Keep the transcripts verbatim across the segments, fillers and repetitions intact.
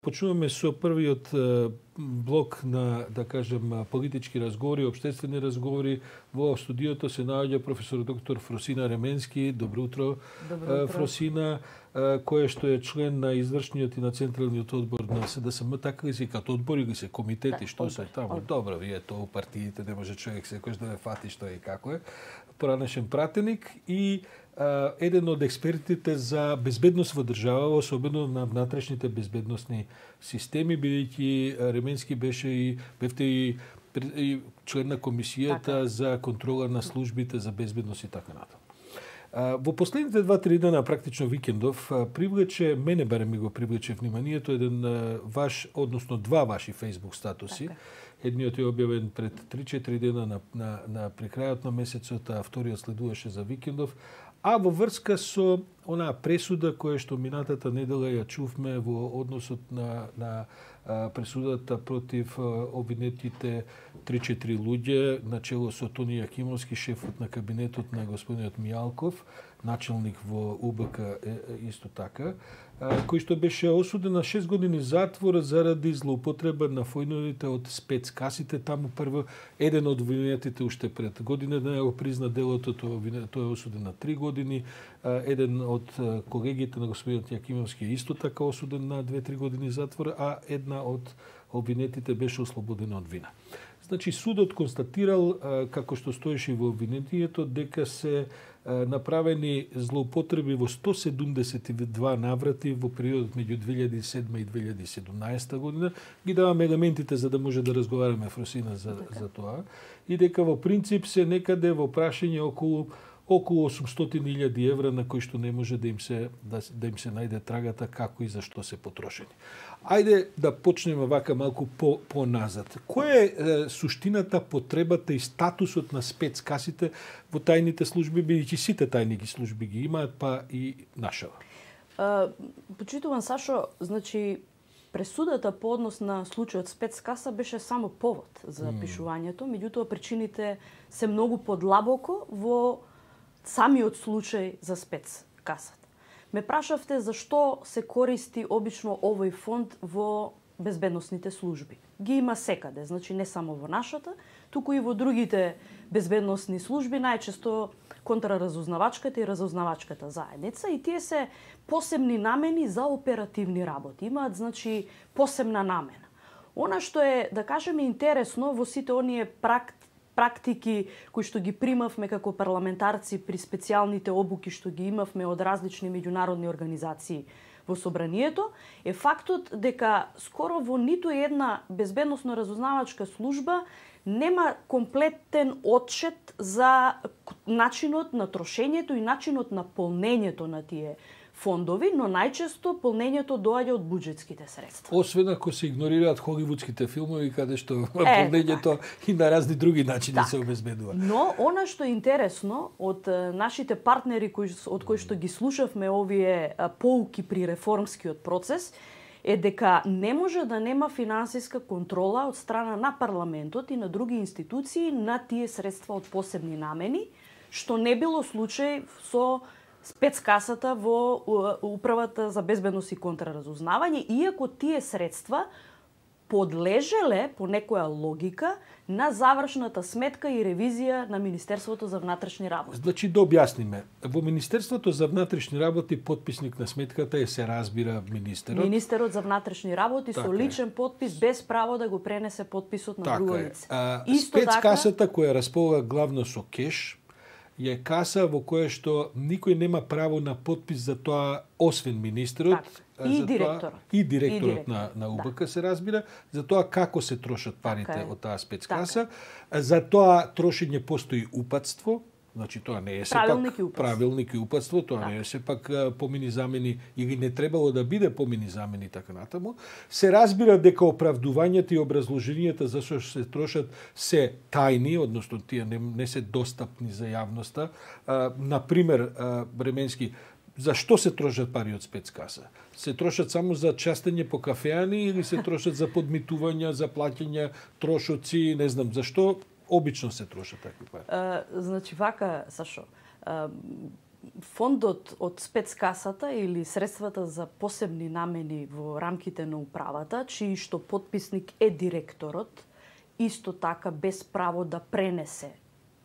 почнуваме со првиот блок на, да кажем, политички разговори, обштествени разговори. Во студиото се наоѓа професор доктор Фросина Ременски. Добро утро, Добро утро. Фросина, која што е член на извршниот и на централниот одбор на С Д С М, така ли се като одбори ги се комитети, да, што одбор, се таму. одбор. Добро, вие тоа у партиите не може човек секојаш да ве фати што е и како е. Поранешен пратеник и а, еден од експертите за безбедност во држава, особено на внатрешните безбедносни системи, бидејќи Ременски беше и бевте и, и член на комисијата така. За контрола на службите за безбедност и така натаму. Во последните два-три дена, практично викендов, привлече, мене барем ми го привлече вниманието, еден ваш, односно два ваши Facebook статуси. Така. Едниот е објавен пред три-четири дена на, на, на прикрајот на месецот, а вториот следуваше за викендов. А во врска со онаа пресуда која што минатата недела ја чувме во односот на, на а, пресудата против а, обвинетите три-четири луѓе, начело со Тони Јакимовски, шефот на кабинетот на господинот Мијалков, начелник во У Б К е, исто така, а, кој што беше осуден на шест години затвор заради злоупотреба на фојновите од спецкасите. Таму прво еден од обвинетите уште пред година да го призна делото, тој е осуден на три години. Еден од колегите на господинот Јакимовски е исто така осуден на две-три години затвор, а една од обвинетите беше ослободена од вина. Значи, судот констатирал, како што стоеше во обвинението, дека се направени злоупотреби во сто седумдесет и два наврати во периодот меѓу две илјади и седма и две илјади и седумнаесета година. Ги даваме елементите за да може да разговараме, Фросина, за, за тоа. И дека во принцип се некаде во прашање околу околу осумстотини илјади евра на кои што не може да им се да, да им се најде трагата како и за што се потрошени. Ајде да почнеме вака малку по поназад. Која е, е суштината, потребата и статусот на спецкасите во тајните служби, бидејќи сите тајни ги служби ги имаат, па и нашава? Uh, почитуван Сашо, значи пресудата по однос на случајот спецкаса беше само повод за mm. пишувањето, меѓутоа причините се многу подлабоко во самиот случај за спецкасата. Ме прашавте зашто се користи обично овој фонд во безбедносните служби. Ги има секаде, значи не само во нашата, туку и во другите безбедносни служби, најчесто контраразузнавачката и разузнавачката заедница, и тие се посебни намени за оперативни работи. Имаат, значи, посебна намена. Она што е, да кажеме, интересно во сите оние практи практики кои што ги примавме како парламентарци при специјалните обуки што ги имавме од различни меѓународни организации во собранието, е фактот дека скоро во ниту една безбедносно-разузнавачка служба нема комплетен отчет за начинот на трошењето и начинот на полнењето на тие фондови, но најчесто полнењето доаѓа од буџетските средства. Освен ако се игнорираат холивудските филмови каде што е, полнењето и на разни други начини так. Се обезбедува. Но она што е интересно од нашите партнери кои од кои што ги слушавме овие поуки при реформскиот процес е дека не може да нема финансиска контрола од страна на парламентот и на други институции на тие средства од посебни намени, што не било случај со спецкасата во Управата за безбедност и контраразузнавање, иако тие средства подлежеле по некоја логика на завршната сметка и ревизија на Министерството за внатрешни работи. Значи да објасниме. Во Министерството за внатрешни работи потписник на сметката е, се разбира, министерот. Министерот за внатрешни работи така со личен потпис без право да го пренесе потписот на така друго лице. А, спецкасата така која располага главно со кеш е каса во која што никој нема право на подпис за тоа, освен министерот, так, и директорот. Тоа, и директорот, и директорот на, на У Б К да. Се разбира, за тоа како се трошат парите така од таа спецкаса. Така. За тоа трошење постои упатство, значи тоа не е правилник сепак правилник и упатство, тоа така. Не е сепак помини замени или не требало да биде помини замени така натаму. Се разбира дека оправдувањата и образложенијата за што се трошат се тајни, односно тие не, не се достапни за јавноста. А, например, Бременски, зашто се трошат пари од спецкаса? Се трошат само за частење по кафеани или се трошат за подмитувања, за плаќање трошоци, не знам, зашто обично се трошат такви пари? Uh, значи, вака, Сашо, uh, фондот од спецкасата или средствата за посебни намени во рамките на управата, чиј што потписник е директорот, исто така без право да пренесе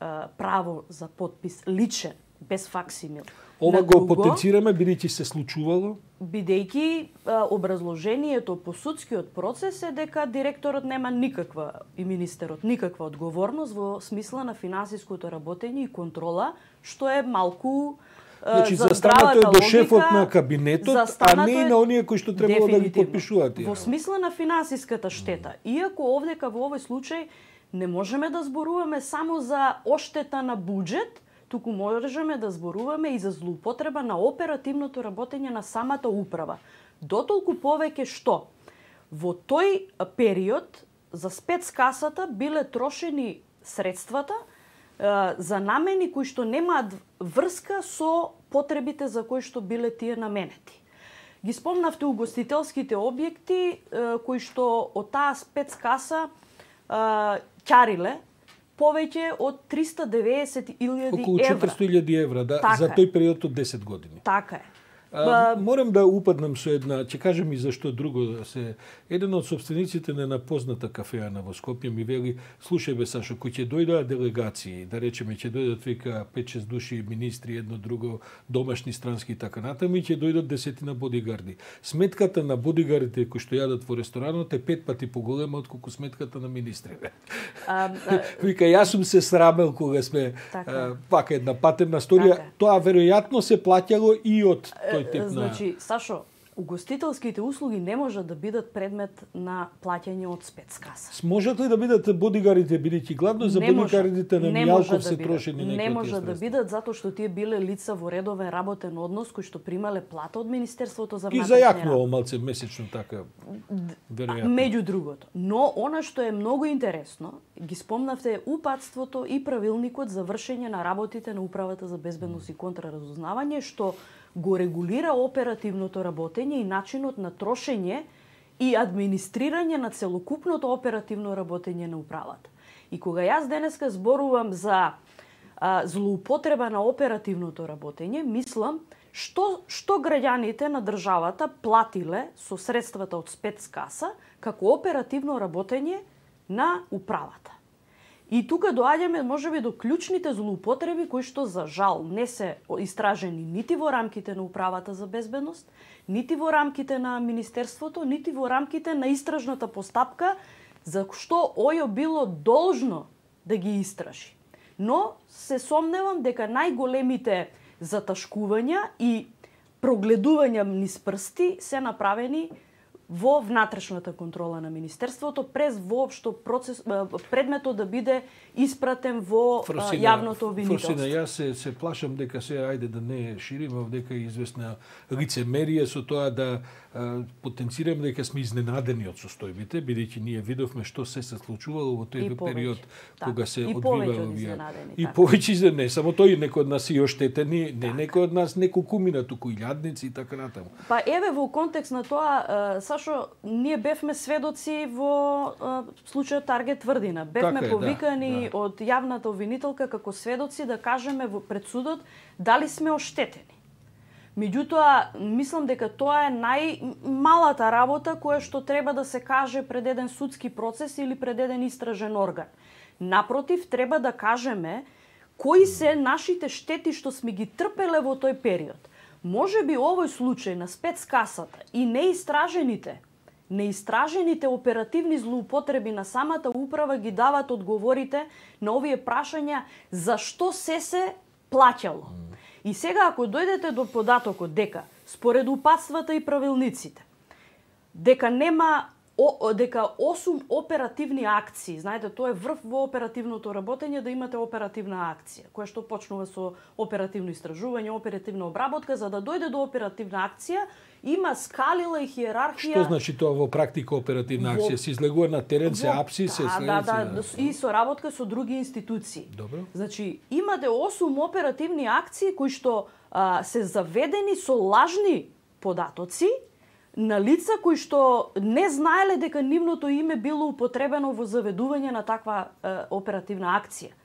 а, право за подпис личен, без факсимил. Ова го потенцираме бидејќи се случувало? Бидејќи а, образложението по судскиот процес е дека директорот нема никаква и министерот никаква одговорност во смисла на финансиското работење и контрола, што е малку Значи, застанато е до шефот на кабинетот, а не и на оние кои што требало да ги подпишуваат. Во смисла на финансиската штета. Иако овдека во овој случај не можеме да зборуваме само за оштета на буџет, туку можеме да зборуваме и за злоупотреба на оперативното работење на самата управа. Дотолку повеќе што во тој период за спецкасата биле трошени средствата за намени кои што немаат врска со потребите за кои што биле тие наменети. Ги спомнавте угостителските објекти кои што од таа спецкаса ќариле повеќе од триста деветдесет илјади евра. Околу четиристотини илјади евра, да, така за тој период од десет години. Така е. А, морам да упаднам со една, ќе кажам и зашто друго да се. Еден од собствениците на една позната кафеана во Скопје ми вели: "Слушај бе Сашо, кои ќе дојдат делегации, да речеме ќе дојдат вика пет-шест души министри, едно друго домашни странски и така натаму, и ќе дојдат десетина бодигарди. Сметката на бодигардите кои што јадат во ресторанот е пет пати поголема отколку сметката на министрите." А, а... Вика, јас сум се срамел кога сме така. Пака една патерна сторија, така. Тоа веројатно се плаќало и од тој тип на... Значи, Сашо, угостителските услуги не можат да бидат предмет на плаќање од спецкаса. Можат ли да бидат бодигардите, бидејќи главно за бодигардите на Мијалков се да трошени некои? Не може да бидат затоа што тие биле лица во редовен работен однос кои што примале плата од Министерството за внатрешни работи. Ги зајакнувал малце месечно така. Веројатно. Меѓу другото. Но она што е многу интересно, ги спомнавте упатството и правилникот за вршење на работите на Управата за безбедност и контраразузнавање, што го регулира оперативното работење и начинот на трошење и администрирање на целокупното оперативно работење на управата. И кога јас денеска зборувам за а, злоупотреба на оперативното работење, мислам што што граѓаните на државата платиле со средствата од спецкаса како оперативно работење на управата. И тука доаѓаме можеби до клучните злоупотреби кои што за жал не се истражени нити во рамките на Управата за безбедност, нити во рамките на Министерството, нити во рамките на истражната постапка за што ОЈО било должно да ги истражи. Но се сомневам дека најголемите заташкувања и прогледувања низ прсти се направени во внатрешната контрола на Министерството, през воопшто процес, предметот да биде испратен во Фросина, јавното обвинителство. Фросина, јас се, се плашам дека се, ајде да не шириме, дека е известна лицемерие со тоа да а, потенцирам дека сме изненадени од состојбите, бидејќи ние видовме што се се случувало во тој период да. кога се и одвиваа овие. И повеќе не само тој, некој од нас и оштетени, не некој од нас неколку мина, туку илјадници и така натаму. Па еве во контекст на тоа, Сашо, ние бевме сведоци во а, случајот Таргет Тврдина. Бевме така е, повикани да, да. од јавната обвинителка како сведоци да кажеме во пред судот дали сме оштетени. Меѓутоа, мислам дека тоа е најмалата работа која што треба да се каже пред еден судски процес или пред еден истражен орган. Напротив, треба да кажеме кои се нашите штети што сме ги трпеле во тој период. Може би овој случај на спецкасата и неистражените, неистражените оперативни злоупотреби на самата управа ги дават одговорите на овие прашања зашто се се плаќало. И сега ако дојдете до податокот дека според упатствата и правилниците дека нема о, дека осум оперативни акции, знаете, тоа е врв во оперативното работење да имате оперативна акција, која што почнува со оперативно истражување, оперативна обработка, за да дојде до оперативна акција, има скалила и хиерархија. Што значи тоа во практика оперативна акција? Се излегува на терен, се апси, се следи? Да, да, да, и соработка со други институции. Добро. Значи, имате осум оперативни акции кои што а, се заведени со лажни податоци на лица кои што не знаеле дека нивното име било употребено во заведување на таква е, оперативна акција.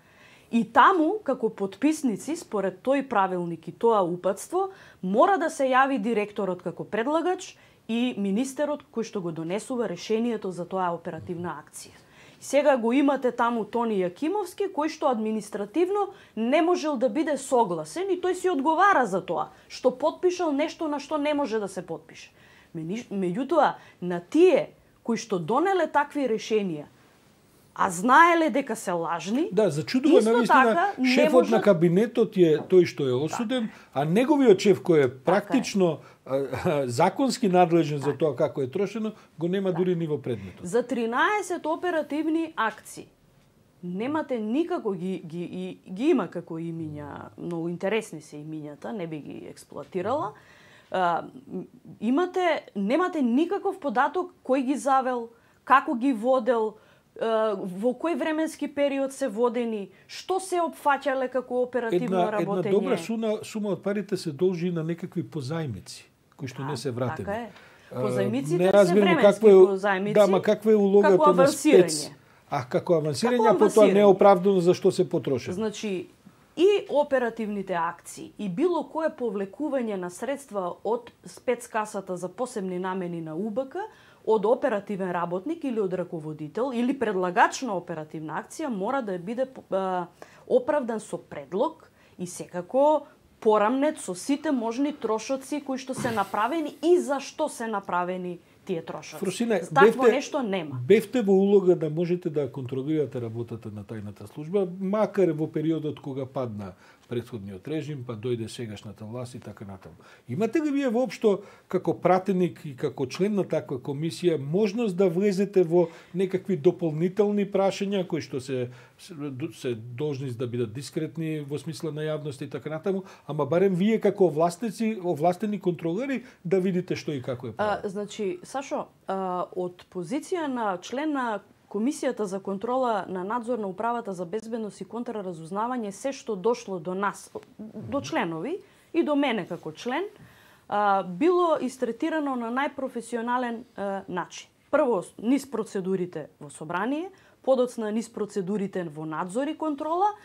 И таму, како потписници, според тој правилник и тоа упатство, мора да се јави директорот како предлагач и министерот кој што го донесува решението за тоа оперативна акција. Сега го имате таму Тони Јакимовски, кој што административно не можел да биде согласен и тој си одговара за тоа, што потпишал нешто на што не може да се потпише. Меѓутоа, на тие кои што донеле такви решенија, а знаеле дека се лажни. Да, зачудува навистина шефот може... на кабинетот е тој што е осуден, так. А неговиот шеф кој е практично така е. законски надлежен так. за тоа како е трошено, го нема так. дури ни во предметот. За тринаесет оперативни акции немате никако ги ги ги, ги има како имиња, многу интересни се имињата, не би ги експлоатирала. Uh, имате немате никаков податок кој ги завел, како ги водел, во кој временски период се водени, што се опфаќале како оперативно една, работење. Една добра сума, сума од парите се должи на некакви позајмици, кои што а, не се вратени. Така е. Позајмиците не се временски е, позајмици. Да, ма каква е улогата на спец? А како авансирање, а потоа неоправдано за што се потроши. Значи, и оперативните акции, и било кое повлекување на средства од спецкасата за посебни намени на УБК, од оперативен работник или од раководител или предлагач на оперативна акција мора да биде а, оправдан со предлог и секако порамнет со сите можни трошоци кои што се направени и зашто се направени тие трошоци. Фрусина, такво бевте, нешто нема. Бевте во улога да можете да контролирате работата на тајната служба, макар во периодот кога падна претходниот режим, па дојде сегашната власт и така натаму. Имате ли вие воопшто како пратеник и како член на таква комисија можност да влезете во некакви дополнителни прашања кои што се се должни да бидат дискретни во смисла на јавност и така натаму, ама барем вие како властници, овластени контролери да видите што и како е правило. А, значи, Сашо, а, од позиција на член на Комисијата за контрола на надзор на Управата за безбедност и контраразузнавање, се што дошло до нас, до членови и до мене како член, а, било истретирано на најпрофесионален а, начин. Прво, низ процедурите во собрание, подоцна низ процедурите во надзор и контрола,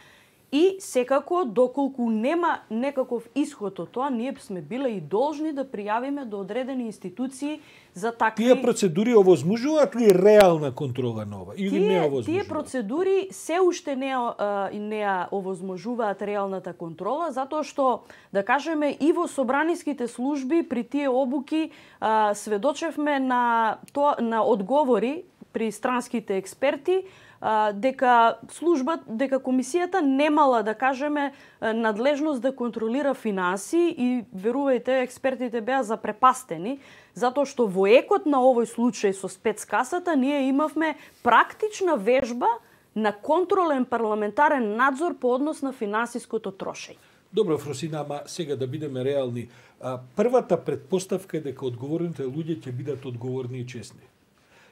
и секако, доколку нема некаков исход од тоа, ние сме биле и должни да пријавиме до одредени институции за такви... Тие процедури овозможуваат ли реална контрола нова или тие, не овозможуваат? Тие процедури се уште не, не овозможуваат реалната контрола, затоа што, да кажеме, и во собраниските служби при тие обуки а, сведочевме на, то, на одговори при странските експерти, дека служба, дека комисијата немала, да кажеме, надлежност да контролира финанси и, верувајте, експертите беа запрепастени, затоа што во екот на овој случај со спецкасата ние имавме практична вежба на контролен парламентарен надзор по однос на финансиското трошење. Добро, Фрусина, ама сега да бидеме реални. А, првата предпоставка е дека одговорните луѓе ќе бидат одговорни и честни.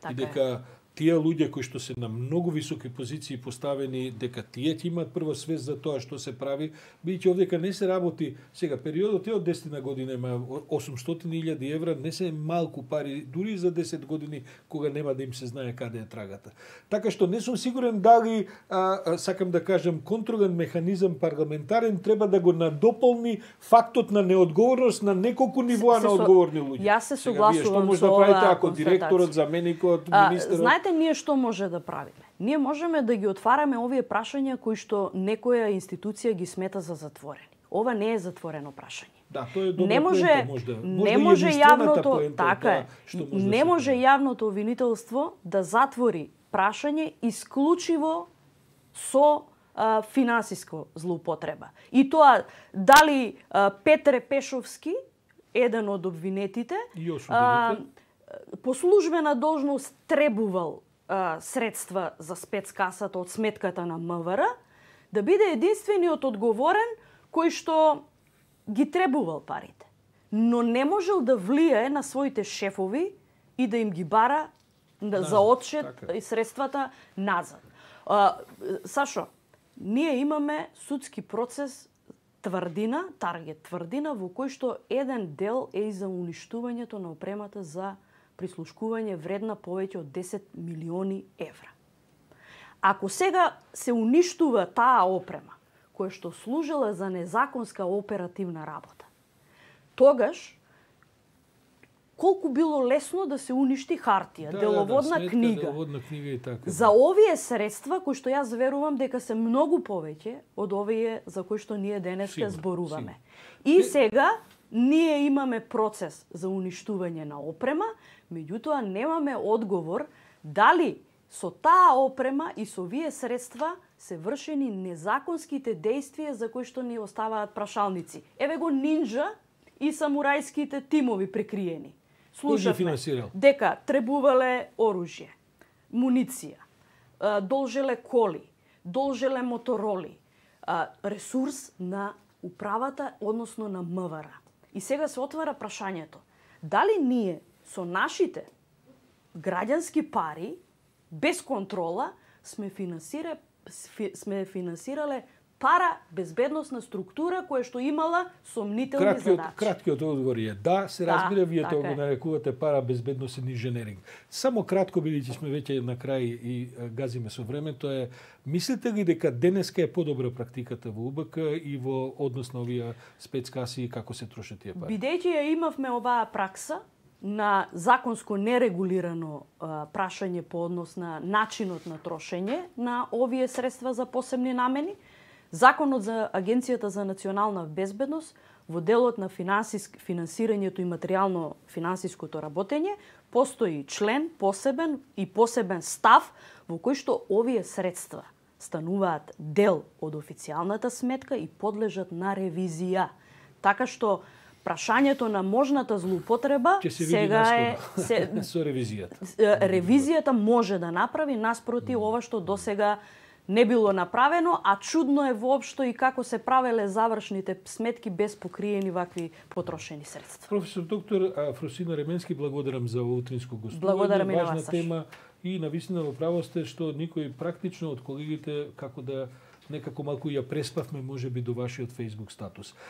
Така и дека е. Тие луѓе кои што се на многу високи позиции поставени, дека тие ќе имаат прво свест за тоа што се прави, бидејќи овдека не се работи, сега периодот е од десет година, има осумстотини илјади евра, не се малку пари, дури за десет години, кога нема да им се знае каде е трагата. Така што не сум сигурен дали, а, а, сакам да кажам, контролен механизам парламентарен треба да го надополни фактот на неодговорност на неколку нивоа на одговорни луѓе. Јас се согласувам со да правите ако директорот, заменикот, министерот? Знаете, ние што може да правиме? Ние можеме да ги отвараме овие прашања кои што некоја институција ги смета за затворени. Ова не е затворено прашање. Да, тоа е добра не може, поента, можда. Не може јавното, поента, така е, да, може не да може јавното обвинителство да затвори прашање исклучиво со а, финансиско злоупотреба. И тоа дали а, Петре Пешовски, еден од обвинетите, и осудените, по службена должност требувал а, средства за спецкасата од сметката на МВР, да биде единствениот одговорен кој што ги требувал парите. Но не можел да влијае на своите шефови и да им ги бара да, за одчет така. И средствата назад. А, Сашо, ние имаме судски процес тврдина, таргет тврдина, во кој што еден дел е и за уништувањето на опремата за прислушкување вредна повеќе од десет милиони евра. Ако сега се уништува таа опрема, која што служела за незаконска оперативна работа, тогаш колку било лесно да се уништи хартија, да, деловодна да, да, книга. Деловодна книга и така. За овие средства, кои што јас верувам дека се многу повеќе од овие за кои што ние денеска зборуваме. И сега ние имаме процес за уништување на опрема, меѓутоа немаме одговор дали со таа опрема и со овие средства се вршени незаконските действија за кои што ни оставаат прашалници. Еве го нинџа и самурајските тимови прикриени. Слушавме дека требувале оружје, муниција, должеле коли, должеле мотороли, ресурс на управата, односно на МВР. И сега се отвара прашањето, дали ние со нашите граѓански пари, без контрола, сме финансирале, сме финансирале пара безбедносна структура која што имала сомнителни краткиот, задачи. Краткиот одговор е да, се разбира, да, вие тоа го нарекувате пара безбедносен инженеринг. Само кратко, бидејќи сме веќе на крај и газиме со времето, е мислите ли дека денеска е подобра практиката во УБК и во однос на овие спецкаси и како се трошат тие пари? Бидејќи ја имавме оваа пракса на законско нерегулирано а, прашање по однос на начинот на трошење на овие средства за посебни намени, Законот за Агенцијата за национална безбедност во делот на финансиск, финансирањето и материјално финансиското работење постои член посебен и посебен став во кој што овие средства стануваат дел од официјалната сметка и подлежат на ревизија. Така што прашањето на можната злоупотреба сега е се, со ревизијата. Ревизијата може да направи наспроти ова што досега не било направено, а чудно е воопшто и како се правеле завршните сметки без покриени вакви потрошени средства. Професор доктор Фросина Ременски, благодарам за утринско гостување. Благодарам и на Важна вас, тема и навистина во право сте што никој практично од колегите како да некако малку ја преспавме можеби до вашиот Facebook статус.